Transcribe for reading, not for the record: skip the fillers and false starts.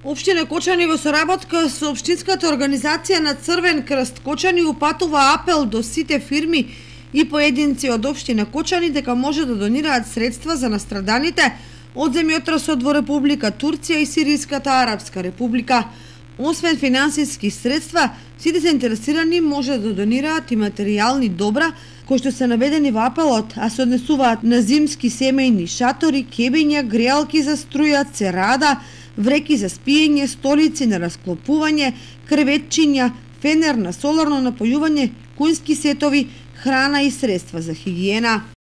Општина Кочани во соработка со Општинската организација на Црвен крст Кочани упатува апел до сите фирми и поединци од Општина Кочани дека може да донираат средства за настраданите од земјотресот во Република Турција и Сириската Арапска република. Освен финансиски средства, сите заинтересирани може да донираат и материјални добра кои што се наведени во апелот, а се однесуваат на зимски семејни шатори, кебиња, греалки за струја, церада, вреки за спиење, столици на расклопување, креветчиња, фенер на соларно напојување, кујнски сетови, храна и средства за хигиена.